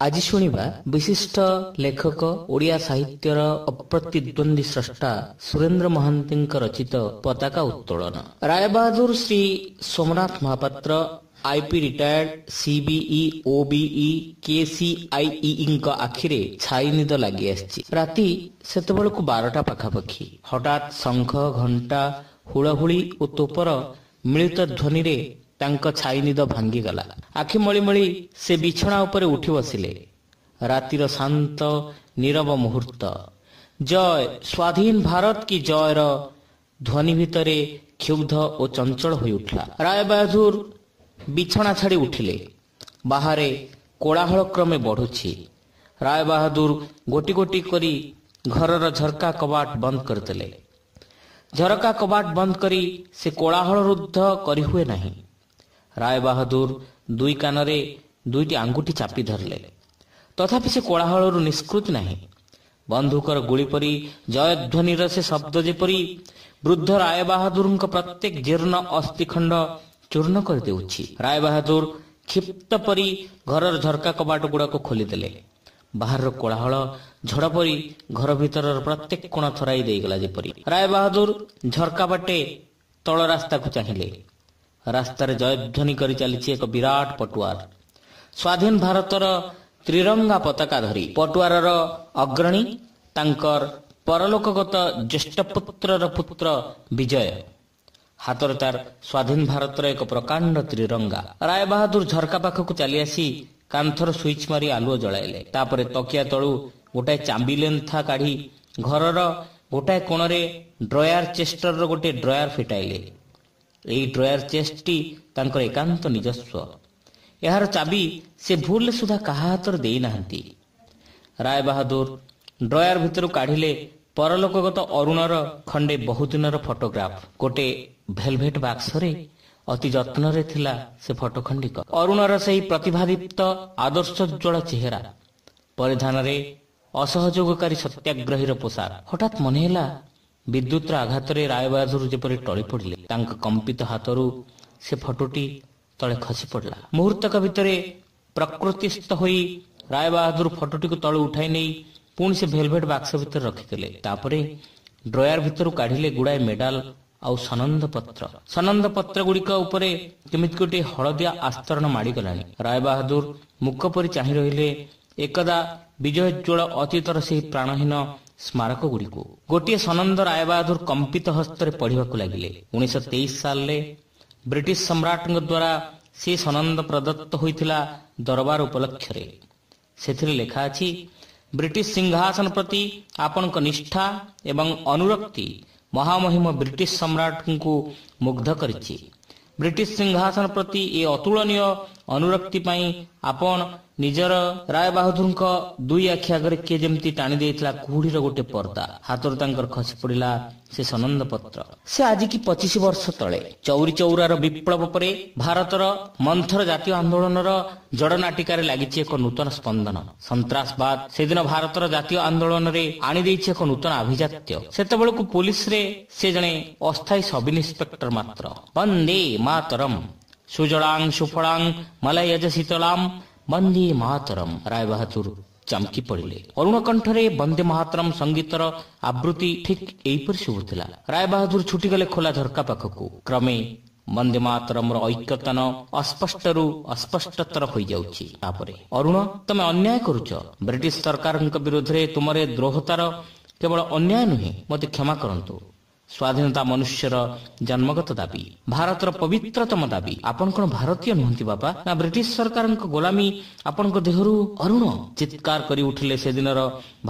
ଆଜି ଶୁଣିବା ବିଶିଷ୍ଟ ଲେଖକ, ଓଡ଼ିଆ ସାହିତ୍ୟର ଅପ୍ରତିଦ୍ୱନ୍ଦ୍ୱୀ ସ୍ରଷ୍ଟା ସୁରେନ୍ଦ୍ର ମହାନ୍ତିଙ୍କ ରଚିତ ପତାକା ଉତ୍ତୋଳନ। Rai Bahadur Shri Somnath Mohapatra, IP retired, CBE, OBE, କେସିଆଇଇଙ୍କ ଆଖିରେ ଛାଇ ନିଦ ଲାଗି ଆସିଛି। ରାତି ସେତେବେଳକୁ 12ଟା ପାଖାପାଖି। ହଠାତ୍ ଶଙ୍ଖ, ଘଣ୍ଟା, ହୁଳହୁଳି ଓ ତୋପର ମିଳିତ ଧ୍ୱନିରେ ତାଙ୍କ ଛାଇ ନିଦ ଭାଙ୍ଗିଗଲା। ଆଖି ମଳି ମଳି ସେ ବିଛଣା ଉପରେ ଉଠି ବସିଲେ। ରାତିର ଶାନ୍ତ ନୀରବ ମୁହୂର୍ତ୍ତ। ଜୟ, ସ୍ୱାଧୀନ ଭାରତ କି ଜୟର ଧ୍ୱନି ଭିତରେ କ୍ଷୁବ୍ଧ ଓ ଚଞ୍ଚଳ ହୋଇଉଠିଲା। ରାୟବାହାଦୁର ବିଛଣା ଛାଡ଼ି ଉଠିଲେ। ବାହାରେ କୋଳାହଳ କ୍ରମେ ବଢୁଛି। ରାୟବାହାଦୁର ଗୋଟି ଗୋଟି କରି ଘରର ଝରକା କବାଟ ବନ୍ଦ କରିଦେଲେ। ଝରକା କବାଟ ବନ୍ଦ କରି ସେ କୋଳାହଳ ରୁଦ୍ଧ କରିହୁଏ ନାହିଁ। ରାୟବାହାଦୁର ଦୁଇ କାନରେ ଦୁଇଟି ଆଙ୍ଗୁଠି ଚାପି ଧରିଲେ। ତଥାପି ସେ କୋଳାହଳରୁ ନିଷ୍କୃତି ନାହିଁ। ବନ୍ଧୁକର ଗୁଳି ପରି ଜୟଧ୍ୱନିର ସେ ଶବ୍ଦ ଯେପରି ବୃଦ୍ଧ ରାୟବାହାଦୁରଙ୍କ ପ୍ରତ୍ୟେକ ଜୀର୍ଣ୍ଣ ଅସ୍ଥିଖଣ୍ଡ ଚୂର୍ଣ୍ଣ କରିଦେଉଛି। ରାୟବାହାଦୁର କ୍ଷିପ୍ତ ପରି ଘରର ଝରକା କବାଟ ଗୁଡାକ ଖୋଲିଦେଲେ। ବାହାରର କୋଳାହଳ ଝଡ଼ ପରି ଘର ଭିତରର ପ୍ରତ୍ୟେକ କୋଣ ଥରାଇ ଦେଇଗଲା ଯେପରି। ରାୟବାହାଦୁର ଝରକା ବାଟେ ତଳ ରାସ୍ତାକୁ ଚାହିଁଲେ। ରାସ୍ତାରେ ଜୟଧ୍ୱନି କରି ଚାଲିଛି ଏକ ବିରାଟ ପଟୁଆର, ସ୍ୱାଧୀନ ଭାରତର ତ୍ରିରଙ୍ଗା ପତାକା ଧରି। ପଟୁଆରର ଅଗ୍ରଣୀ ତାଙ୍କର ପରଲୋକଗତ ଜ୍ୟେଷ୍ଠ ପୁତ୍ରର ପୁତ୍ର ବିଜୟ। ହାତରେ ତାର ସ୍ୱାଧୀନ ଭାରତର ଏକ ପ୍ରକାଣ୍ଡ ତ୍ରିରଙ୍ଗା। ରାୟବାହାଦୁର ଝରକା ପାଖକୁ ଚାଲି ଆସି କାନ୍ଥର ସୁଇଚ୍ ମାରି ଆଲୁଅ ଜଳାଇଲେ। ତାପରେ ତକିଆ ତଳୁ ଗୋଟାଏ ଚାବି ଲେନ୍ଥା କାଢି ଘରର ଗୋଟାଏ କୋଣରେ ଡ୍ରୟାର ଚେଷ୍ଟରର ଗୋଟିଏ ଡ୍ରୟାର ଫିଟାଇଲେ। ଏଇ ଡ୍ରୟାର ଚେଷ୍ଟଟି ତାଙ୍କର ଏକାନ୍ତ ନିଜସ୍ୱ। ଏହାର ଚାବି ସେ ଭୁଲରେ ସୁଦ୍ଧା କାହା ହାତରେ ଦେଇନାହାନ୍ତି। ରାୟବାହାଦୁର ଡ୍ରୟାର ଭିତରୁ କାଢିଲେ ପରଲୋକଗତ ଅରୁଣର ଖଣ୍ଡେ ବହୁଦିନର ଫଟୋଗ୍ରାଫ। ଗୋଟେ ଭେଲଭେଟ ବାକ୍ସରେ ଅତି ଯତ୍ନରେ ଥିଲା ସେ ଫଟୋ ଖଣ୍ଡିକ। ଅରୁଣର ସେହି ପ୍ରତିଭାଦୀପ୍ତ ଆଦର୍ଶୋଜ୍ୱଳ ଚେହେରା, ପରିଧାନରେ ଅସହଯୋଗକାରୀ ସତ୍ୟାଗ୍ରହୀର ପୋଷାକ। ହଠାତ୍ ମନେହେଲା ବିଦ୍ୟୁତର ଆଘାତରେ ରାୟବାହାଦୁର ଯେପରି ଟଳି ପଡ଼ିଲେ। ତାଙ୍କ କମ୍ପିତ ହାତରୁ ସେ ଫଟୋଟି ତଳେ ଖସି ପଡ଼ିଲା। ମୁହୂର୍ତ୍ତକ ଭିତରେ ପ୍ରକୃତିସ୍ଥ ହୋଇ ରାୟବାହାଦୁର ଫଟୋଟିକୁ ତଳୁ ଉଠାଇ ନେଇ ପୁଣି ସେ ଭେଲଭେଟ ବାକ୍ସ ଭିତରେ ରଖିଦେଲେ। ତାପରେ ଡ୍ରୟାର ଭିତରୁ କାଢିଲେ ଗୁଡ଼ାଏ ମେଡାଲ ଆଉ ସନନ୍ଦ ପତ୍ର। ସନନ୍ଦ ପତ୍ର ଗୁଡ଼ିକ ଉପରେ କେମିତି ଗୋଟିଏ ହଳଦିଆ ଆସ୍ତରଣ ମାଡ଼ିଗଲାଣି। ରାୟବାହାଦୁର ମୁକ ପରି ଚାହିଁ ରହିଲେ ଏକଦା ବିଜୟୋଜ୍ୱଳ ଅତୀତର ସେହି ପ୍ରାଣହୀନ ସ୍ମାରକ ଗୁଡ଼ିକୁ। ଗୋଟିଏ ସନନ୍ଦ ରାୟବାହାଦୁର କମ୍ପିତ ହସ୍ତରେ ପଢିବାକୁ ଲାଗିଲେ। 1923 ସାଲରେ ବ୍ରିଟିଶ ସମ୍ରାଟଙ୍କ ଦ୍ୱାରା ସେ ସନନ୍ଦ ପ୍ରଦତ୍ତ ହୋଇଥିଲା ଦରବାର ଉପଲକ୍ଷରେ। ସେଥିରେ ଲେଖା ଅଛି, ବ୍ରିଟିଶ ସିଂହାସନ ପ୍ରତି ଆପଣଙ୍କ ନିଷ୍ଠା ଏବଂ ଅନୁରକ୍ତି ମହାମହିମ ବ୍ରିଟିଶ ସମ୍ରାଟଙ୍କୁ ମୁଗ୍ଧ କରିଛି। ବ୍ରିଟିଶ ସିଂହାସନ ପ୍ରତି ଏ ଅତୁଳନୀୟ ଅନୁରକ୍ତି ପାଇଁ ଆପଣ ନିଜର। ରାୟବାହାଦୁରଙ୍କ ଦୁଇ ଆଖି ଆଗରେ କିଏ ଯେମିତି ଟାଣି ଦେଇଥିଲା କୁହୁଡିର ଗୋଟେ ପର୍ଦ୍ଦା। ହାତରୁ ତାଙ୍କର ଖସି ପଡିଲା ସେ ସନନ୍ଦ ପତ୍ର। ସେ ଆଜିକି 25 ବର୍ଷ ତଳେ ଚୌରି ଚୌରାର ବିପ୍ଳବ ପରେ ଭାରତର ମନ୍ଥର ଜାତୀୟ ଆନ୍ଦୋଳନର ଜଡ଼ନାଟିକାରେ ଲାଗିଛି ଏକ ନୂତନ ସ୍ପନ୍ଦନ। ସନ୍ତ୍ରାସବାଦ ସେଦିନ ଭାରତର ଜାତୀୟ ଆନ୍ଦୋଳନରେ ଆଣିଦେଇଛି ଏକ ନୂତନ ଆଭିଜାତ୍ୟ। ସେତେବେଳକୁ ପୋଲିସରେ ସେ ଜଣେ ଅସ୍ଥାୟୀ ସବ୍ ଇନ୍ସପେକ୍ଟର ମାତ୍ର। ବନ୍ଦେ ମାତରମ୍, ସୁଜଳାଂ ସୁଫଳାଂ ମଲୟଜ ଶୀତଳାಂ, ବନ୍ଦେ ମାତରମ୍। ରାୟବାହାଦୁର ଚମକି ପଡ଼ିଲେ। ଅରୁଣ କଣ୍ଠରେ ବନ୍ଦେ ମାତରମ୍ ସଙ୍ଗୀତର ଆବୃତ୍ତି ଠିକ୍ ଏହିପରି ଶୁଭୁଥିଲା। ରାୟବାହାଦୁର ଛୁଟିଗଲେ ଖୋଲା ଝରକା ପାଖକୁ। କ୍ରମେ ବନ୍ଦେ ମାତରମର ଐକ୍ୟତାନ ଅସ୍ପଷ୍ଟରୁ ଅସ୍ପଷ୍ଟତର ହୋଇଯାଉଛି। ତାପରେ, ଅରୁଣ, ତମେ ଅନ୍ୟାୟ କରୁଛ। ବ୍ରିଟିଶ ସରକାରଙ୍କ ବିରୋଧରେ ତୁମର ଏ ଦ୍ରୋହତାର କେବଳ ଅନ୍ୟାୟ ନୁହେଁ, ମୋତେ କ୍ଷମା କରନ୍ତୁ। ସ୍ୱାଧୀନତା ମନୁଷ୍ୟର ଜନ୍ମଗତ ଦାବି, ଭାରତର ପବିତ୍ରତମ ଦାବି। ଆପଣ କଣ ଭାରତୀୟ ନୁହନ୍ତି ବାପା? ନା ବ୍ରିଟିଶ ସରକାରଙ୍କ ଗୋଲାମୀ ଆପଣଙ୍କ ଦେହରୁ? ଅରୁଣ, ଚିତ୍କାର କରି ଉଠିଲେ ସେଦିନର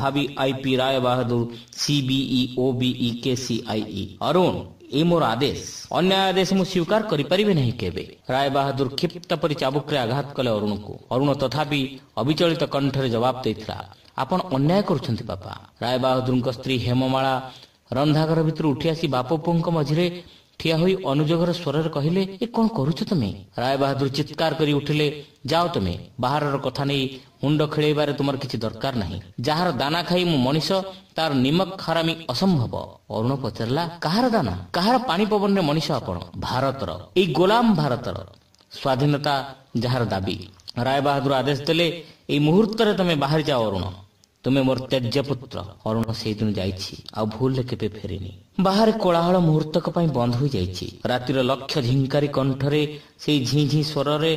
ଭାବି ଆଇପି ରାୟବାହାଦୁର, ସିବିଇ, ଓବିଇ, କେସିଆଇଇ। ଅରୁଣ, ଏ ମୋର ଆଦେଶ। ଅନ୍ୟାୟ ଆଦେଶ ମୁଁ ସ୍ୱୀକାର କରିପାରିବି ନାହିଁ କେବେ। ରାୟବାହାଦୁର କ୍ଷିପ୍ତ ପରି ଚାବୁକରେ ଆଘାତ କଲେ ଅରୁଣକୁ। ଅରୁଣ ତଥାପି ଅବିଚଳିତ କଣ୍ଠରେ ଜବାବ ଦେଇଥିଲା, ଆପଣ ଅନ୍ୟାୟ କରୁଛନ୍ତି ବାପା। ରାୟବାହାଦୁରଙ୍କ ସ୍ତ୍ରୀ ହେମମାଳା ରନ୍ଧାଘର ଭିତରୁ ଉଠି ଆସି ବାପ ପୁଅଙ୍କ ମଝିରେ ଠିଆ ହୋଇ ଅନୁଯୋଗର ସ୍ୱରରେ କହିଲେ, ଏ କଣ କରୁଛ ତମେ? ରାୟବାହାଦୁର ଚିତ୍କାର କରି ଉଠିଲେ, ଯାଅ ତମେ, ବାହାରର କଥା ନେଇ ମୁଣ୍ଡ ଖେଳେଇବାରେ ତୁମର କିଛି ଦରକାର ନାହିଁ। ଯାହାର ଦାନା ଖାଇ ମୁଁ ମଣିଷ, ତାର ନିମକ ହାରାମି ଅସମ୍ଭବ। ଅରୁଣ ପଚାରିଲା, କାହାର ଦାନା, କାହାର ପାଣି ପବନରେ ମଣିଷ ଆପଣ? ଭାରତର, ଏଇ ଗୋଲାମ ଭାରତର, ସ୍ୱାଧୀନତା ଯାହାର ଦାବି। ରାୟବାହାଦୁର ଆଦେଶ ଦେଲେ, ଏଇ ମୁହୂର୍ତ୍ତରେ ତମେ ବାହାରି ଯାଅ ଅରୁଣ, ତୁମେ ମୋର ତ୍ୟାଜ୍ୟ ପୁତ୍ର। ଅରୁଣ ସେଇଦିନ ଯାଇଛି, ଆଉ ଭୁଲରେ କେବେ ଫେରିନି। ବାହାରେ କୋଳାହଳ ମୁହୂର୍ତ୍ତକ ପାଇଁ ବନ୍ଦ ହୋଇଯାଇଛି। ରାତିର ଲକ୍ଷ ଝିଙ୍କାରି କଣ୍ଠରେ ସେଇ ଝିଁ ଝିଁ ସ୍ୱରରେ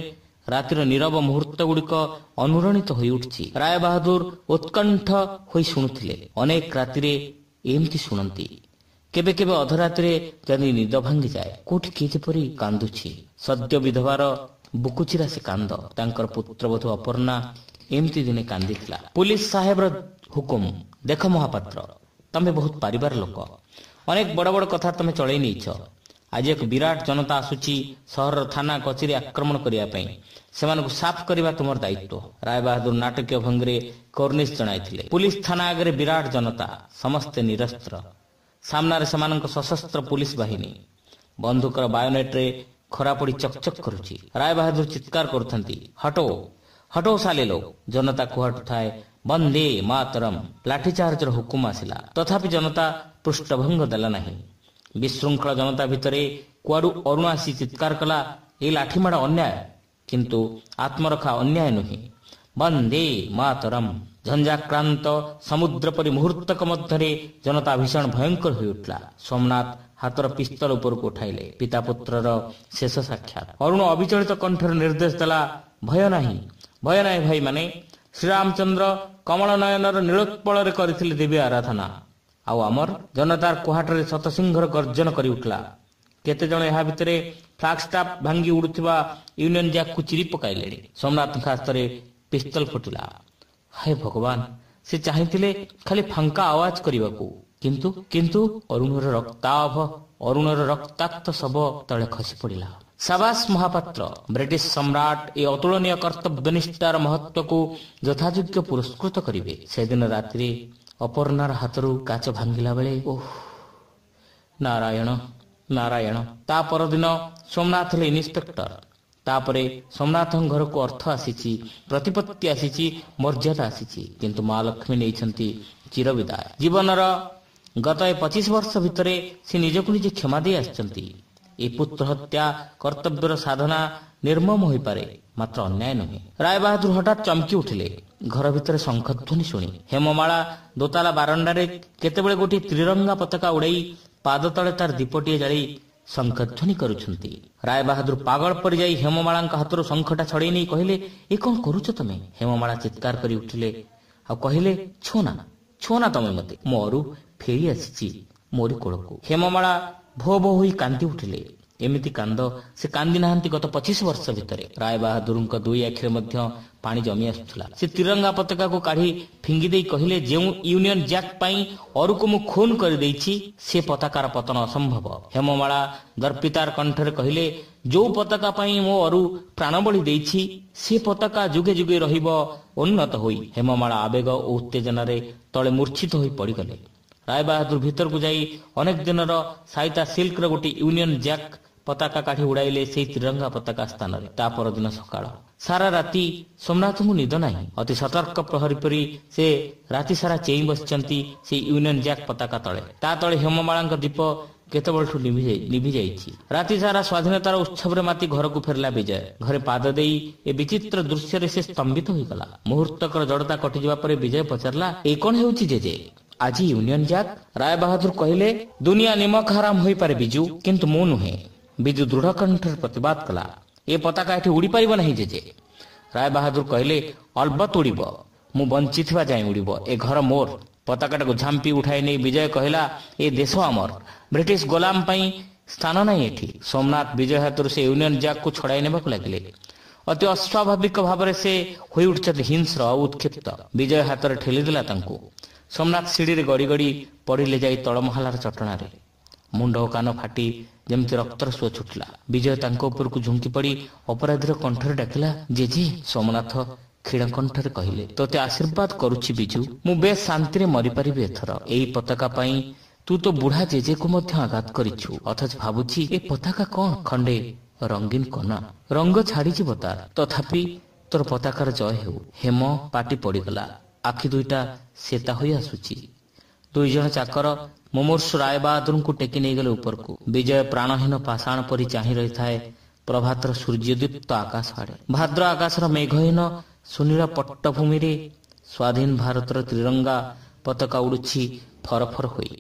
ରାତିର ନୀରବ ମୁହୂର୍ତ୍ତ ଗୁଡ଼ିକ ଅନୁରଣିତ ହୋଇଉଠିଛି। ରାୟବାହାଦୁର ଉତ୍କଣ୍ଠ ହୋଇ ଶୁଣୁଥିଲେ। ଅନେକ ରାତିରେ ଏମିତି ଶୁଣନ୍ତି। କେବେ କେବେ ଅଧରାତିରେ ଯଦି ନିଦ ଭାଙ୍ଗିଯାଏ, କୋଉଠି କିଏ ଯେପରି କାନ୍ଦୁଛି। ସଦ୍ୟ ବିଧବାର ବୁକୁଚିରା ସେ କାନ୍ଦ। ତାଙ୍କର ପୁତ୍ରବଧୂ ଅପର୍ଣ୍ଣା ଏମିତି ଦିନେ କାନ୍ଦିଥିଲା। ପୁଲିସ ସାହେବର ହୁକୁମ, ଦେଖ ମହାପାତ୍ର, ତମେ ବହୁତ ପାରିବାର ଲୋକ, ଅନେକ ବଡ଼ ବଡ଼ କଥା ତମେ ଚଳେଇ ନେଇଛ। ଆଜି ଏକ ବିରାଟ ଜନତା ଆସୁଛି ସହରର ଥାନା କଚେରୀ ଆକ୍ରମଣ କରିବା ପାଇଁ। ସେମାନଙ୍କୁ ସାଫ କରିବା ତୁମର ଦାୟିତ୍ୱ। ରାୟବାହାଦୁର ନାଟକୀୟ ଭଙ୍ଗୀରେ କର୍ଣ୍ଣିଶ ଜଣାଇଥିଲେ। ପୁଲିସ ଥାନା ଆଗରେ ବିରାଟ ଜନତା, ସମସ୍ତେ ନିରସ୍ତ୍ର। ସାମ୍ନାରେ ସେମାନଙ୍କ ସଶସ୍ତ୍ର ପୁଲିସ ବାହିନୀ। ବନ୍ଧୁକର ବାୟୋନେଟ୍ରେ ଖରା ପଡ଼ି ଚକଚକ କରୁଛି। ରାୟବାହାଦୁର ଚିତ୍କାର କରୁଥାନ୍ତି, ହଟୋ ହଟୋ ସାଲେ ଲୋ। ଜନତା କୁହାଟୁଥାଏ, ବନ୍ଦେ ମାତରମ୍। ଲାଠିଚାର୍ଜର ହୁକୁମ ଆସିଲା, ତଥାପି ଜନତା ପୃଷ୍ଠଭଙ୍ଗ ଦେଲା ନାହିଁ। ବିଶୃଙ୍ଖଳ ଜନତା ଭିତରେ କୁଆଡୁ ଅରୁଣ ଆସି ଚିତ୍କାର କଲା, ଏ ଲାଠିମାଡ଼ ଅନ୍ୟାୟ, କିନ୍ତୁ ଆତ୍ମରକ୍ଷା ଅନ୍ୟାୟ ନୁହେଁ। ବନ୍ଦେ ମାତରମ୍। ଝଞ୍ଜାକ୍ରାନ୍ତ ସମୁଦ୍ର ପରି ମୁହୂର୍ତ୍ତକ ମଧ୍ୟରେ ଜନତା ଭୀଷଣ ଭୟଙ୍କର ହୋଇଉଠିଲା। ସୋମନାଥ ହାତର ପିସ୍ତଲ ଉପରକୁ ଉଠାଇଲେ। ପିତା ପୁତ୍ରର ଶେଷ ସାକ୍ଷାତ। ଅରୁଣ ଅବିଚଳିତ କଣ୍ଠରେ ନିର୍ଦ୍ଦେଶ ଦେଲା, ଭୟ ନାହିଁ, ଭୟ ନାହିଁ ଭାଇମାନେ। ଶ୍ରୀରାମଚନ୍ଦ୍ର କମଳ ନୟନର ନୀଳୋତ୍ପଳରେ କରିଥିଲେ ଦେବୀ ଆରାଧନା, ଆଉ ଆମର ଜନତାର କୁହାଟରେ ଶତସିଂହର ଗର୍ଜନ କରି ଉଠିଲା। କେତେଜଣ ଏହା ଭିତରେ ଫ୍ଲାଗ ଷ୍ଟାଫ୍ ଭାଙ୍ଗି ଉଡୁଥିବା ୟୁନିୟନ ଜ୍ୟାକକୁ ଚିରି ପକାଇଲେଣି। ସୋମନାଥଙ୍କ ହାତରେ ପିସ୍ତଲ ଫୁଟିଲା। ହାୟ ଭଗବାନ, ସେ ଚାହିଁଥିଲେ ଖାଲି ଫାଙ୍କା ଆୱାଜ କରିବାକୁ, କିନ୍ତୁ କିନ୍ତୁ ଅରୁଣର ରକ୍ତାକ୍ତ ଶବ ତଳେ ଖସି ପଡ଼ିଲା। ସାବାସ ମହାପାତ୍ର, ବ୍ରିଟିଶ ସମ୍ରାଟ ଏ ଅତୁଳନୀୟ କର୍ତ୍ତବ୍ୟନିଷ୍ଠାର ମହତ୍ଵକୁ ଯଥାଯୋଗ୍ୟ ପୁରସ୍କୃତ କରିବେ। ସେଦିନ ରାତିରେ ଅପର୍ଣ୍ଣାର ହାତରୁ କାଚ ଭାଙ୍ଗିଲା ବେଳେ, ଓଃ ନାରାୟଣ ନାରାୟଣ। ତା ପରଦିନ ସୋମନାଥ ହେଲେ ଇନ୍ସପେକ୍ଟର। ତାପରେ ସୋମନାଥଙ୍କ ଘରକୁ ଅର୍ଥ ଆସିଛି, ପ୍ରତିପତ୍ତି ଆସିଛି, ମର୍ଯ୍ୟାଦା ଆସିଛି, କିନ୍ତୁ ମା ଲକ୍ଷ୍ମୀ ନେଇଛନ୍ତି ଚିରବିଦାୟ। ଜୀବନର ଗତ ଏ 25 ବର୍ଷ ଭିତରେ ସେ ନିଜକୁ ନିଜେ କ୍ଷମା ଦେଇ ଆସିଛନ୍ତି। ଏ ପୁତ୍ର ହତ୍ୟା କର୍ତ୍ତବ୍ୟର ସାଧନା ନିର୍ମମ ହୋଇପାରେ, ମାତ୍ର ଅନ୍ୟାୟ ନୁହେଁ। ରାୟବାହାଦୁର ହଠାତ୍ ଚମକି ଉଠିଲେ ଘର ଭିତରେ ଶଙ୍ଖଧ୍ୱନି ଶୁଣି। ହେମମାଳା ଦୋତାଲା ବାରଣ୍ଡାରେ କେତେବେଳେ ଗୋଟିଏ ତ୍ରିରଙ୍ଗା ପତାକା ଉଡ଼େଇ ପାଦ ତଳେ ତାର ଦୀପଟିଏ ଜାଳି ଶଙ୍ଖଧ୍ୱନି କରୁଛନ୍ତି। ରାୟବାହାଦୁର ପାଗଳ ପରି ଯାଇ ହେମମାଳାଙ୍କ ହାତରୁ ଶଙ୍ଖଟା ଛଡ଼େଇ ନେଇ କହିଲେ, ଏ କଣ କରୁଛ ତମେ? ହେମମାଳା ଚିତ୍କାର କରି ଉଠିଲେ ଆଉ କହିଲେ, ଛୁଅଁ ନା, ଛୁଅଁ ନା ତମେ ମତେ, ମୋ ଅରୁ ଫେରି ଆସିଛି ମୋରି କୋଳକୁ। ହେମମାଳା ଭୋ ଭୋ ହୋଇ କାନ୍ଦି ଉଠିଲେ। ଏମିତି କାନ୍ଦ ସେ କାନ୍ଦି ନାହାନ୍ତି ଗତ 25 ବର୍ଷ ଭିତରେ। ରାୟବାହାଦୁରଙ୍କ ଦୁଇ ଆଖିରେ ମଧ୍ୟ ପାଣି ଜମି ଆସୁଥିଲା। ସେ ତ୍ରିରଙ୍ଗା ପତାକାକୁ କାଢି ଫିଙ୍ଗି ଦେଇ କହିଲେ, ଯେଉଁ ୟୁନିୟନ ଜ୍ୟାକ୍ ପାଇଁ ଅରୁକୁ ମୁଁ ଖୁନ କରିଦେଇଛି, ସେ ପତାକାର ପତନ ଅସମ୍ଭବ। ହେମମାଳା ଦର୍ପିତାର କଣ୍ଠରେ କହିଲେ, ଯୋଉ ପତାକା ପାଇଁ ମୋ ଅରୁ ପ୍ରାଣବଳି ଦେଇଛି, ସେ ପତାକା ଯୁଗେ ଯୁଗେ ରହିବ ଉନ୍ନତ ହୋଇ। ହେମମାଳା ଆବେଗ ଓ ଉତ୍ତେଜନାରେ ତଳେ ମୂର୍ଚ୍ଛିତ ହୋଇ ପଡ଼ିଗଲେ। ରାୟବାହାଦୁର ଭିତରକୁ ଯାଇ ଅନେକ ଦିନର ସାଇତା ସିଲ୍କର ଗୋଟିଏ ୟୁନିୟନ ଜ୍ୟାକ୍ ପତାକା କାଢି ଉଡ଼ାଇଲେ ସେଇ ତ୍ରିରଙ୍ଗା ପତାକା ସ୍ଥାନରେ। ତା ପରଦିନ ସକାଳ ସାରା ରାତି ସୋମନାଥଙ୍କୁ ନିଦ ନାହିଁ। ଅତି ସତର୍କ ପ୍ରହରୀ ପରି ସେ ରାତି ସାରା ଚେଇଁ ବସିଛନ୍ତି ସେଇ ୟୁନିୟନ ଜ୍ୟାକ୍ ପତାକା ତଳେ। ତା ତଳେ ହେମମାଳାଙ୍କ ଦୀପ କେତେବେଳଠୁ ଲିଭି ଯାଇଛି। ରାତି ସାରା ସ୍ୱାଧୀନତାର ଉତ୍ସବରେ ମାତି ଘରକୁ ଫେରିଲା ବିଜୟ। ଘରେ ପାଦ ଦେଇ ଏ ବିଚିତ୍ର ଦୃଶ୍ୟରେ ସେ ସ୍ତମ୍ଭିତ ହୋଇଗଲା। ମୁହୂର୍ତ୍ତକର ଜଡ଼ତା କଟିଯିବା ପରେ ବିଜୟ ପଚାରିଲା, ଏ କଣ ହେଉଛି ଜେଜେ, ଆଜି ୟୁନିୟନ ଜ୍ୟାକ୍? ରାୟବାହାଦୁର କହିଲେ, ଦୁନିଆ ନିମକ ହାରାମ ହୋଇପାରେ ବିଜୁ, କିନ୍ତୁ ମୁଁ ନୁହେଁ। ବିଜୁ ଦୃଢ଼ କଣ୍ଠରେ ପ୍ରତିବାଦ କଲା, ଏ ପତାକା ଏଠି ଉଡ଼ିପାରିବ ନାହିଁ ଜେଜେ। ରାୟବାହାଦୁର କହିଲେ, ଅଲବତ ଉଡ଼ିବ, ମୁଁ ବଞ୍ଚିଥିବା ଯାଏଁ ଉଡ଼ିବ। ଏ ଘର ମୋର। ପତାକାଟାକୁ ଝାମ୍ପି ଉଠାଇ ନେଇ ବିଜୟ କହିଲା, ଏ ଦେଶ ଆମର, ବ୍ରିଟିଶ ଗୋଲାମ ପାଇଁ ସ୍ଥାନ ନାହିଁ ଏଠି। ସୋମନାଥ ବିଜୟ ହାତରୁ ସେ ୟୁନିୟନ ଜ୍ୟାକକୁ ଛଡ଼ାଇ ନେବାକୁ ଲାଗିଲେ। ଅତି ଅସ୍ୱାଭାବିକ ଭାବରେ ସେ ହୋଇଉଠିଛନ୍ତି ହିଂସ୍ର ଆଉ ଉତ୍କ୍ଷିପ୍ତ। ବିଜୟ ହାତରେ ଠେଲିଦେଲା ତାଙ୍କୁ। ସୋମନାଥ ସିଡ଼ିରେ ଗଡ଼ି ଗଡ଼ି ପଡ଼ିଲେ ଯାଇ ତଳମହଲାର ଚଟଣାରେ। ମୁଣ୍ଡ ଓ କାନ ଫାଟି ଯେମିତି ରକ୍ତର ସୁଅ ଛୁଟିଲା। ବିଜୟ ତାଙ୍କ ଉପରକୁ ଝୁଙ୍କି ପଡ଼ି ଅପରାଧୀର କଣ୍ଠରେ ଡାକିଲା, ଜେଜେ। ସୋମନାଥ କ୍ଷୀଣ କଣ୍ଠରେ କହିଲେ, ତୋତେ ଆଶୀର୍ବାଦ କରୁଛି ବିଜୁ, ମୁଁ ବେଶ ଶାନ୍ତିରେ ମରିପାରିବି ଏଥର। ଏଇ ପତାକା ପାଇଁ ତୁ ତୋ ବୁଢା ଜେଜେକୁ ମଧ୍ୟ ଆଘାତ କରିଛୁ, ଅଥଚ ଭାବୁଛି ଏ ପତାକା କଣ? ଖଣ୍ଡେ ରଙ୍ଗୀନ କନା, ରଙ୍ଗ ଛାଡ଼ିଯିବ ତାର, ତଥାପି ତୋର ପତାକାର ଜୟ ହେଉ। ହେମ ପାଟି ପଡ଼ିଗଲା, ଆଖି ଦୁଇଟା ସେତା ହୋଇ ଆସୁଛି। ଦୁଇ ଜଣ ଚାକର ମୁମୂର୍ଷୁ ରାୟବାହାଦୁରଙ୍କୁ ଟେକି ନେଇଗଲେ ଉପରକୁ। ବିଜୟ ପ୍ରାଣହୀନ ପାଷାଣ ପରି ଚାହିଁ ରହିଥାଏ ପ୍ରଭାତର ସୂର୍ଯ୍ୟଦୀପ୍ତ ଆକାଶ ଆଡ଼େ। ଭାଦ୍ର ଆକାଶର ମେଘହୀନ ସୁନୀଳ ପଟ୍ଟଭୂମିରେ ସ୍ୱାଧୀନ ଭାରତର ତ୍ରିରଙ୍ଗା ପତାକା ଉଡୁଛି ଫରଫର ହୋଇ।